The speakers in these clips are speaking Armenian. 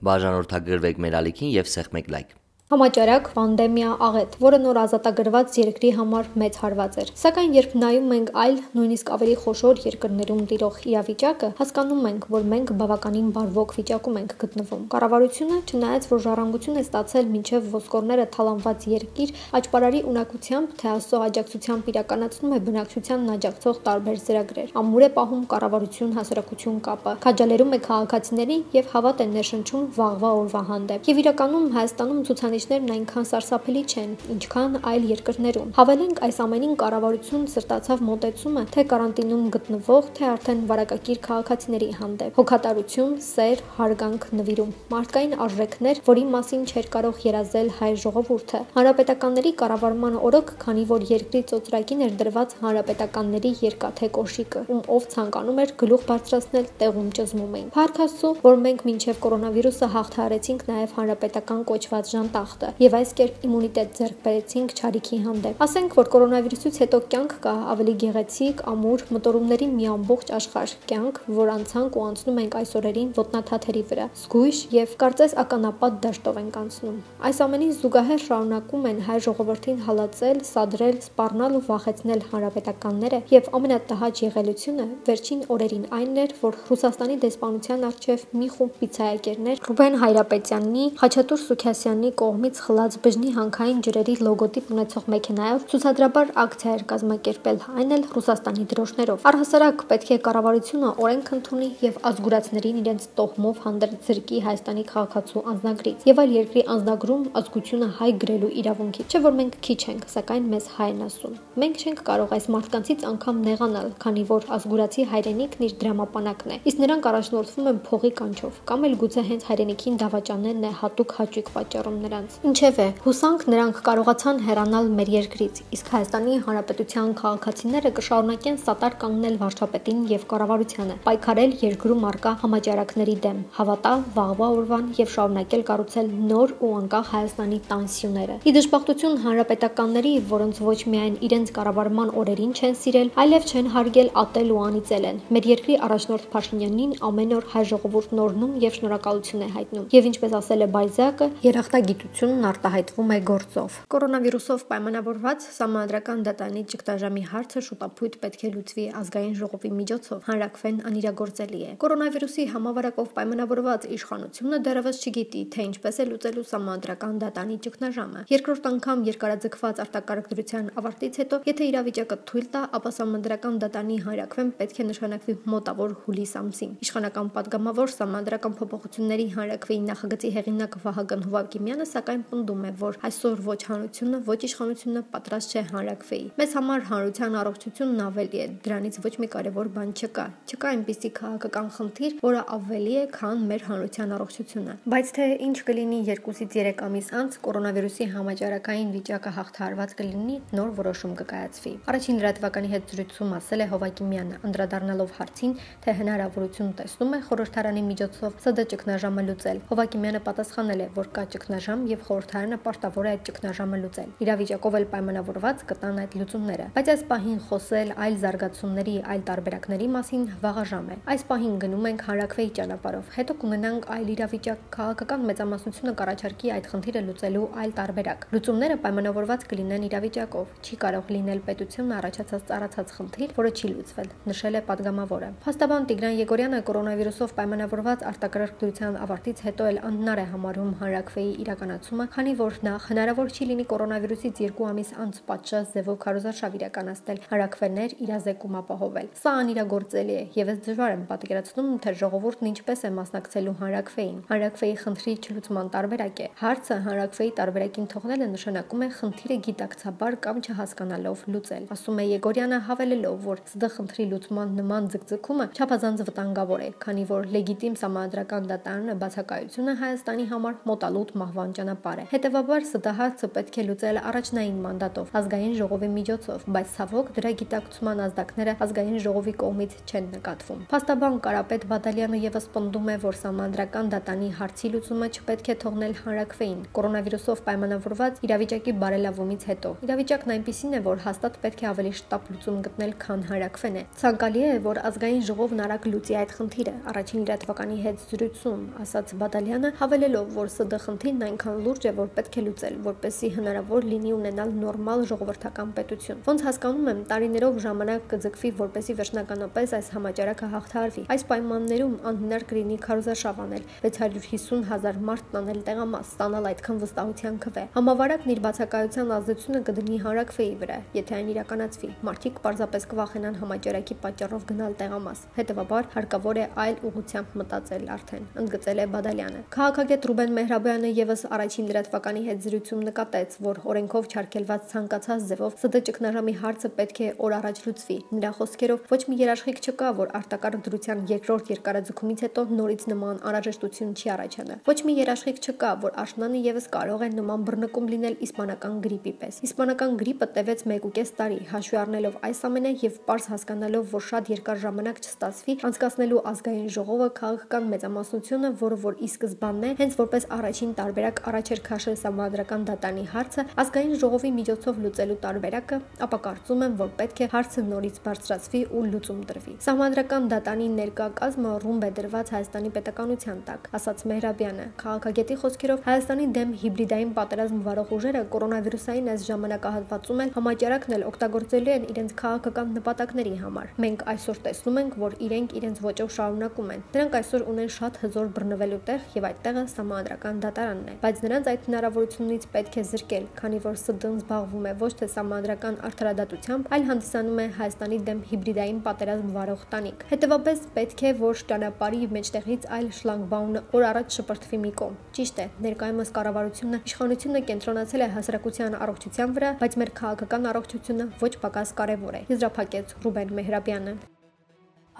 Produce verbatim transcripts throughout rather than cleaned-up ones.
Բաժանորդագրվեք մեր ալիքին և սեղմեք լայք։ Համաճարակ պանդեմիա աղետ, որը նոր ազատագրված երկրի համար մեծ հարված էր։ Սակայն երբ նայում ենք այլ, նույնիսկ ավելի խոշոր երկրներում տիրող իրավիճակը, հասկանում ենք, որ մենք բավականին բարվոք վիճակում ենք գտնվում։ Կառավարությունը, չնայած որ ժառանգություն է ստացել մինչև ոսկորները թալանված երկիր, աճպարարի ունակությամբ, թե Աստծո աջակցությամբ իրականացնում է բնակչությանն աջակցող տարբեր ծրագրեր։ Ամուր է պահում կառավարություն-հասարակություն կապը, քաջալերում է քաղաքացիներին եւ հավատ է ներշնչում վաղվա օրվա հանդեպ։ Եվ իրականում Հայաստանում ցուցանիշներն այնքան սարսափելի չեն, ինչքան այլ երկրներում։ Հավելենք, այս ամենին կառավարություն սրտացավ մոտեցումը թե կարանտինում գտնվող, թե արդեն վարակակիր քաղաքացիների հանդեպ։ Հոգատարություն, սեր, հարգանք, նվիրում, մարդկային արժեքներ, որի մասին չէր կարող երազել հայ ժողովուրդը։ Հանրապետականների կառավարման օրոք, քանի որ երկրի ծոծրակին էր դրված հանրապետականների երկաթե կոշիկը, ում ով ցանկանում էր գլուխ բարձրացնել, տեղում ճզմում էին։ Փառք Աստծո, որ մենք մինչև կորոնավիրուսը հաղթահարեցինք նաև հանրապետական կոչված ժանտախտը եւ այս կերպ իմունիտետ ձեռք բերեցինք չարիքի հանդեպ։ Ասենք, որ կորոնավիրուսից հետո կյանք կա ավելի գեղեցիկ, ամուր, մտորումների մի ամբողջ աշխարհ, կյանք, որ անցանք ու անցնում ենք այս օրերին ոտնաթաթերի վրա, զգույշ եւ կարծես ականապատ դաշտով ենք անցնում։ Այս ամենին զուգահեռ շարունակում են հայ ժողովրդին հալածել, սադրել, սպառնալ ու վախեցնել հանրապետականները եւ ամենատհաճ եղելությունը վերջին օրերին այն էր, որ Ռուսաստանի դեսպանության առջև մի խումբ պիցայակերներ Ռուբեն Հայրապետյանի, Խաչատուր Սուքիասյանի կողմից խլած բժնի հանքային ջրերի լոգոտիպ ունեցող մեքենայով ցուցադրաբար ակցիա էր կազմակերպել, այն էլ Ռուսաստանի դրոշներով։ Առհասարակ պետք է կառավարությունը օրենք ընդունի եւ ազգուրացներին իրենց տոհմով հանդերձ զրկի Հայաստանի քաղաքացու անձնագրից եւ այլ երկրի անձնագրում ազգությունը հայ գրելու իրավունքի։ Չէ՞ որ մենք քիչ ենք, սակայն մեզ հայ են ասում։ Մենք չենք կարող այս մարդկանցից անգամ նեղանալ, քանի որ ազգուրացի հայրենիքն իր դրամապանակն է, իսկ նրանք առաջնորդվում են փողի կանչով, կամ էլ գուցե հենց հայրենիքին դավաճանելն է հատուկ հաճույք պատճառում նրանց։ Ինչևէ, հուսանք նրանք կարողացան հեռանալ մեր երկրից, իսկ Հայաստանի Հանրապետության քաղաքացիները կշարունակեն սատար կանգնել վարչապետին եւ կառավարությանը, պայքարել երկրում առկա համաճարակների դեմ, հավատալ վաղվա օրվան եւ շարունակել կառուցել նոր ու անկախ Հայաստանի տան սյուները։ Ի դժբախտություն հանրապետականների, որոնց ոչ միայն իրենց կառավարման օրերին չեն սիրել, այլև չեն հարգել, ատել ու անիծել են։ Մեր երկրի առաջնորդ Փաշինյանին ամեն օր հայ ժողովուրդն օրհնում եւ շնորհակալություն է հայտնում։ Եվ ինչպես ասել է Բայզակը, երախտագիտությունն արտահայտվում է գործով։ Կորոնավիրուսով պայմանավորված Սահմանադրական դատարանի ճգնաժամի հարցը շուտապույտ պետք է լուծվի ազգային ժողովի միջոցով, հանրակրվեն անիրագործելի է։ Կորոնավիրուսի համավարակով պայմանավորված իշխանությունը դեռևս չգիտի, թե ինչպես է լուծելու Սահմանադրական դատարանի ճգնաժամը։ Երկրորդ անգամ երկարաձգված արտակարգ դրության ավարտից հետո, եթե իրավիճակը թույլ տա, ապա Սահմանադրական դատարանի հանրակրվեն պետք է նշանակվի մոտավոր հուլիս ամսին։ Իշխանական падգամավոր Սահմանադրական փոփոխությունների հանրակրվեի նախագծի հեղինակ Վահագն Հովակիմյանը սակայն պնդում է, որ այսօր ոչ հանրությունը, ոչ իշխանությունը պատրաստ չէ հանրակրվեի։ Մեզ համար հանրության առողջությունն ավելի է, դրանից ոչ մի կարևոր բան չկա։ Չկա այնպիսի քաղաքական խնդիր, որը ավելի է, քան մեր հանրության առողջությունը։ Բայց թե ինչ կլինի երկուսից երեք ամիս անց կորոնավիրուսի համաճարակային վիճակը հաղթահարված կլինի, նոր որոշում կկայացվի։ Առաջին լրատվականի հետ զրույցում ասել է Հովակիմյանը, անդրադառնալով հարցին, թե հնարավորություն տեսնում է խորհրդարանի միջոցով ՍԴ ճգնաժամը լուծել։ Հովակիմյանը պատասխանել է, որ կա ճգնաժամ եւ խորհրդարանը պարտավոր է այդ ճգնաժամը լուծել։ Իրավիճակով էլ պայմանավորված կտան այդ լուծումները։ Բայց այս պահին խոսել այլ զարգացումների, այլ տարբերակների մասին վաղաժամ է։ Այս պահին գնում ենք հանրակրվեի ճանապարհով, հետո կունենանք այլ իրավիճակ, քաղաքական մեծամասնությունը կառաջարկի այդ խնդիրը լուծելու այլ տարբերակ։ Լուծումները պայմանավորված կլինեն իրավիճակով։ Չի կարող լինել պետությունն առաջացած ծառացած խնդիր, որը չի լուծվել, նշել է падգամավորը։ Փաստաբան Տիգրան Եգորյանը կորոնավիրուսով պայմանավորված արտակարգ դրության ավարտից հետո էլ անհնար է համարում հանրակրվեի իրականացումը, քանի որ նախ հնարավոր չի լինի կորոնավիրուսից երկու ամիս անց պատշաճ ձևով քարոզարշավ իրականացնել, հանրակրվեներ իրազեկում ապահովել։ Սա անիրագործելի է եւ ես դժվար եմ պատկերացնում, թե ժողովուրդն ինչպես է մասնակցելու հանրակրվեին։ Հանրակրվեի խնդրի չլուծման տարբերակ է։ Հարցը հանրակրվեի տարբերակին թողնելը նշանակում է խնդիրը գիտակցաբար կամ չհասկանալով լուծել, ասում է Եգորյանը, հավելելով, որ ՍԴ խնդրի լուծման նման ձգձգումը չափազանց վտանգավոր է, քանի որ լեգիտիմ Սահմանադրական դատարանը բացակայությունը Հայաստանի համար մոտալուտ մահվան ճանապարհ է։ Հետևաբար ՍԴՀ հարցը պետք է լուծել առաջնային մանդատով, ազգային ժողովի միջոցով, բայց ցավոք դրա գիտակցման ազդակները ազգային ժողովի կողմից չեն նկատվում։ Փաստաբան Կարապետ Բադալյանը եւս պնդում է, որ սահմանադրական դատանի հարցի լուծումը չպետք է թողնել հանրաքվեին, կորոնավիրուսով պայմանավորված իրավիճակի բարելավումից հետո։ Իրավիճակն այնպիսին է, որ հաստատ պետք է ավելի շտապ լուծում գտնել, քան հանրաքվեն է։ Ցանկալի է, որ ազգային ժողովն արագ լուծի այդ խնդիրը, առաջին լրատվականի հետ զրույցում ասաց Բադալյանը, հավելելով, որ ՍԴ խնդիրն այնքան լուրջ է, որ պետք է լուծել, որպեսզի հնարավոր լինի ունենալ նորմալ ժողովրդական պետություն։ Ոնց հասկանում եմ, տարիներով ժամանակ կձգվի, որպեսզի վերջնականապես այս համաճարակը հաղթահարվի։ Այս պայմաններում անհնար կլինի քարոզարշավ անել, վեց հարյուր հիսուն հազար մարդ տանել տեղամաս, ստանալ այդքան վստահության քվե։ Համավարակն իր բացակայության ազդեցությունը կդնի հանրաքվեի վրա, եթե այն իրականացվի։ Մարդիկ պարզապես կվախենան համաճարակի պատճառով գնալ տեղամաս։ Հետևաբար հարկավոր է այլ ուղղությամբ մտածել արդեն, ընդգծել է Բադալյանը։ Քաղաքագետ Ռուբեն Մեհրաբյանը եւս առաջին լրատվականի հետ զրույցում նկատեց, որ օրենքով չարգելված ցանկացած ձևով ՍԴ ճգնաժամի հարցը պետք է օր առաջ լուծվի։ Նրա խոսքերով ոչ մի երաշխիք չկա, որ արտակարգ դրության երկրորդ երկարաձգումից հետո նորից նման անհրաժեշտություն չի առաջանա։ Ոչ մի երաշխիք չկա, որ աշնանը եւս կարող է նման բռնկում լինել իսպանական գրիպի պես։ Իսպանական գրիպը տևեց մեկուկես տարի, հաշվի առնելով այս ամենը եւ պարզ հասկանալով, որ շատ երկար ժամանակ չստացվի անցկացնելու ազգային ժողովը քաղաքական մեծամասնությունը, որը որ ի սկզբանն է, հենց որպես առաջին տարբերակ առաջ էր քաշել սահմանադրական դատանի հարցը, ազգային ժողովի միջոցով լուծելու տարբերակը, ապա կարծում եմ, որ պետք է հարցը նորից բարձրացվի ու լուծում տրվի։ Սահմանադրական դատանի ներկա կազմը ռումբ է դրված Հայաստանի պետականության տակ, ասաց Մեհրաբյանը։ Քաղաքագետի խոսքերով Հայաստանի դեմ հիբրիդային պատերազմ վարող ուժերը կորոնավիրուսային այս ժամանակահատվածում էլ համաճարակն էլ օգտագործելու են իրենց քաղաքական նպատակների համար։ Մենք այսօր տեսնում ենք, որ իրենք իրենց ոճով շարունակում են։ Նրանք այսօր ունեն շատ հզոր բռնվելու տեղ եւ այդ տեղը սահմանադրական դատարանն է, բայց նրանց այդ հնարավորությունից պետք է զրկել, քանի որ ՍԴ-ն զբաղվում է ոչ թե սահմանադրական արդարադատությամբ, այլ հանդիսանում է Հայաստանի դեմ հիբրիդային պատերազմ վարող տանիք։ Հետևաբար պետք է որ ճանապարհի մեջտեղից այլ շլագբաունը օր առաջ շպրտվի մի կողմ։ Ճիշտ է, ներկայումս կառավարությունը, իշխանությունը կենտրոնացել է հասարակության առողջության վրա, բայց մեր քաղաքական առողջությունը ոչ պակաս կարևոր է, եզրափակեց Ռուբեն Մեհրաբյանը։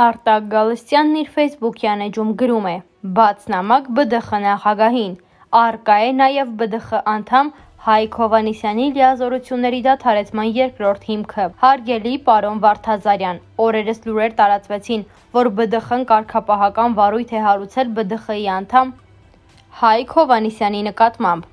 Արտակ Գալստյանն իր ֆեյսբուքյան էջում գրում է. «Բաց նամակ ԲԴԽ նախագահին, առկա է նաև ԲԴԽ անդամ Հայկ Հովհաննիսյանի լիազորությունների դադարեցման երկրորդ հիմքը։ Հարգելի պարոն Վարդազարյան, օրերս լուրեր տարածվեցին, որ ԲԴԽ-ն կարգապահական վարույթ է հարուցել ԲԴԽ-ի անդամ Հայկ Հովհաննիսյանի նկատմամբ։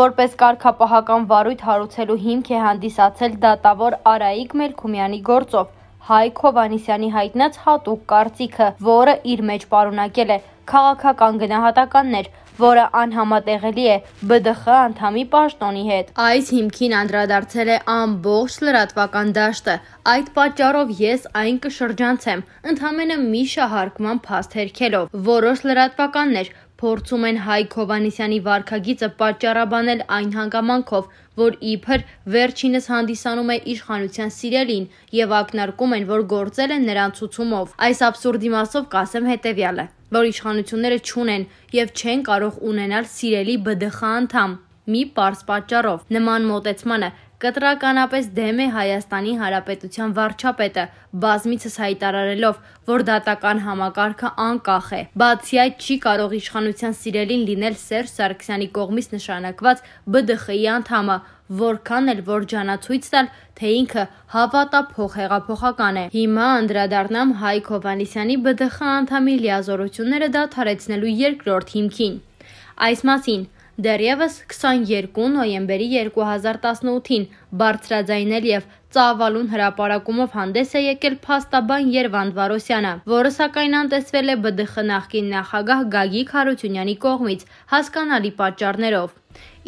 Որպես կարգապահական վարույթ հարուցելու հիմք է հանդիսացել դատավոր Արայիկ Մելքումյանի գործով Հայկ Հովհաննիսյանի հայտնած հատուկ կարծիքը, որը իր մեջ պարունակել է քաղաքական գնահատականներ, որը անհամատեղելի է ԲԴԽ անդամի պաշտոնի հետ։ Այս հիմքին անդրադարձել է ամբողջ լրատվական դաշտը։ Այդ պատճառով ես այն կշրջանցեմ, ընդամենը մի շահարկման փաստ հերքելով։ Որոշ լրատվականներ փորձում են Հայկ Հովհաննիսյանի վարքագիծը պատճառաբանել այն հանգամանքով, որ իբր վերջինս հանդիսանում է իշխանության սիրելին եւ ակնարկում են, որ գործել են նրան ցուցումով։ Այս աբսուրդի մասով կասեմ հետեւյալը, որ իշխանությունները չունեն եւ չեն կարող ունենալ սիրելի ԲԴԽ անդամ մի պարզ պատճառով։ Նման մոտեցմանը կտրականապես դեմ է Հայաստանի Հանրապետության վարչապետը, բազմիցս հայտարարելով, որ դատական համակարգը անկախ է։ Բացի այդ, չի կարող իշխանության սիրելին լինել Սերժ Սարգսյանի կողմից նշանակված ԲԴԽ-ի անդամը, որքան էլ որ ջանացույց տալ, թե ինքը հավատափող հեղափոխական է։ Հիմա անդրադառնամ Հայկ Հովհաննիսյանի ԲԴԽ անդամի լիազորությունները դադարեցնելու երկրորդ հիմքին։ Այս մասին դեռևս քսաներկու նոյեմբերի երկու հազար տասնութին բարձրաձայնել եւ ծավալուն հրապարակումով հանդես է եկել փաստաբան Երվանդ Վարոսյանը, որը սակայն անտեսվել է ԲԴԽ նախկին նախագահ Գագիկ Հարությունյանի կողմից հասկանալի պատճառներով։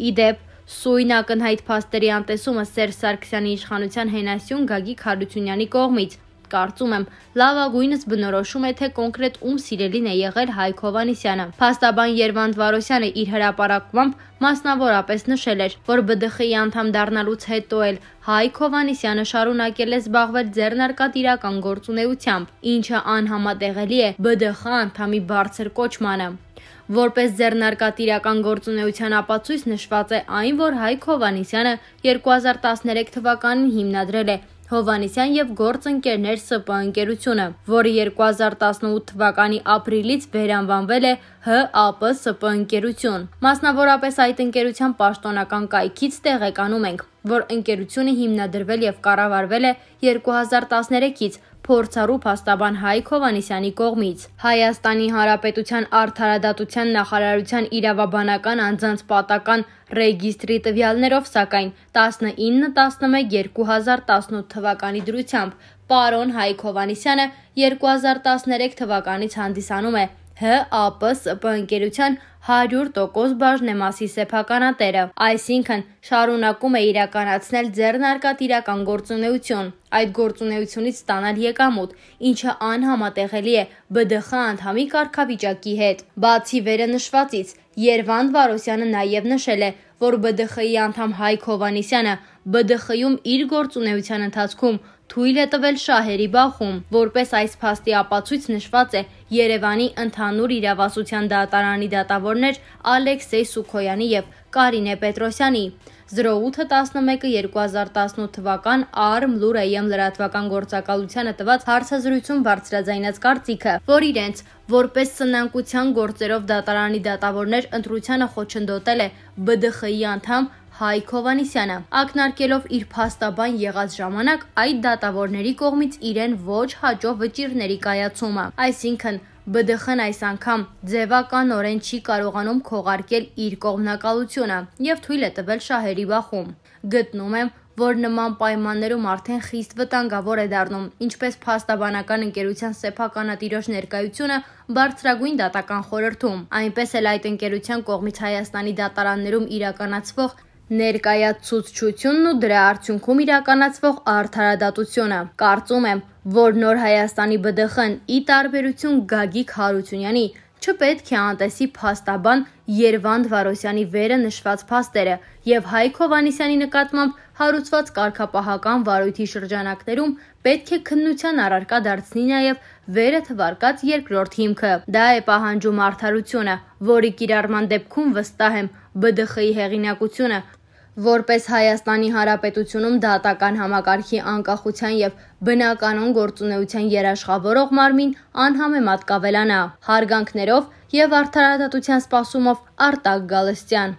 Ի դեպ, սույն ակնհայտ փաստերի անտեսումը Սերժ Սարգսյանի իշխանության հենասյուն Գագիկ Հարությունյանի կողմից կարծում եմ լավագույնս բնորոշում է, թե կոնկրետ ում սիրելին է եղել Հայկ Հովհաննիսյանը։ Փաստաբան Երվանդ Վարոսյանը իր հրապարակմամբ մասնավորապես նշել էր, որ ԲԴԽ-ի անդամ դառնալուց հետո էլ Հայկ Հովհաննիսյանը շարունակել է զբաղվել ձեռնարկատիրական գործունեությամբ, ինչը անհամատեղելի է ԲԴԽ անդամի բարձր կոչմանը։ Որպես ձեռնարկատիրական գործունեության ապացույց նշված է այն, որ Հայկ Հովհաննիսյանը երկու հազար տասներեք թվականին հիմնադրել է Հովհաննիսյան և գործընկերներ Ս Պ ընկերությունը, որը երկու հազար տասնութ թվականի ապրիլից վերանվանվել է Հ Ա Պ Ս Պ ընկերություն։ Մասնավորապես այդ ընկերության պաշտոնական կայքից տեղեկանում ենք, որ ընկերությունը հիմնադրվել և կառավարվել է երկու հազար տասներեքից փորձառու փաստաբան Հայկ Հովհաննիսյանի կողմից։ Հայաստանի Հանրապետության Արդարադատության նախարարության իրավաբանական անձանց պատական ռեգիստրի տվյալներով, սակայն տասնինը տասնմեկ երկու հազար տասնութ թվականի դրությամբ պարոն Հայկ Հովհաննիսյանը երկու հազար տասներեք թվականից հանդիսանում է Հ Ա Պ Ս Պ ընկերության հարյուր տոկոս բաժնեմասի սեփականատերը, այսինքն շարունակում է իրականացնել ձեռնարկատիրական գործունեություն, այդ գործունեությունից ստանալ եկամուտ, ինչը անհամատեղելի է B D Խ անդամի կարգավիճակի հետ։ Բացի վերնշվածից, Երվանդ Վարոսյանը նաև նշել է, որ B D Խ-ի անդամ Հայկ Հովհաննիսյանը B D Խ-ում իր գործունեության ընթացքում թույլ է տվել շահերի բախում, որպես այս փաստի ապացույց նշված է Երևանի ընդհանուր իրավասության դատարանի դատավորներ Ալեքսեյ Սուքոյանի և Կարինե Պետրոսյանի զրո ութ տասնմեկը երկու հազար տասնութ թվական Արմ Լուր Է Մ լրատվական գործակալությանը տված հարցազրույցում բարձրաձայնած կարծիքը, որ իրենց որպես սնանկության գործերով դատարանի դատավորներ ընտրությանը խոչընդոտել է B D Խ-ի անդամ Հայկ Հովհաննիսյանը, ակնարկելով իր փաստաբան եղած ժամանակ այդ դատավորների կողմից իրեն ոչ հաջող վճիռների կայացումը, այսինքն B D Խ-ն այս անգամ ձևականորեն չի կարողանում քողարկել իր կողմնակալությունը և թույլ է տվել շահերի բախում։ Գտնում եմ, որ նման պայմաններում արդեն խիստ վտանգավոր է դառնում ինչպես փաստաբանական ընկերության սեփականատիրոջ ներկայությունը բարձրագույն դատական խորհրդում, այնպես էլ այդ ընկերության կողմից Հայաստանի դատարաններում իրականացվող ներկայացուցչությունն ու դրա արդյունքում իրականացվող արդարադատությունը։ Կարծում եմ, որ Նոր Հայաստանի B D Խ-ն, ի տարբերություն Գագիկ Հարությունյանի, չպետք է անտեսի փաստաբան Երվանդ Վարոսյանի վերը նշված փաստերը և Հայկ Հովհաննիսյանի նկատմամբ հարուցված կարգապահական վարույթի շրջանակներում պետք է քննության առարկա դարձնի նաև վերը թվարկած երկրորդ հիմքը։ Դա է պահանջում արդարությունը, որի կիրառման դեպքում վստահ եմ B D Խ-ի հեղինակությունը որպես Հայաստանի Հանրապետությունում դատական համակարգի անկախության և բնականոն գործունեության երաշխավորող մարմին անհամեմատ կավելանա։ Հարգանքներով և արդարադատության սպասումով Արտակ Գալստյան։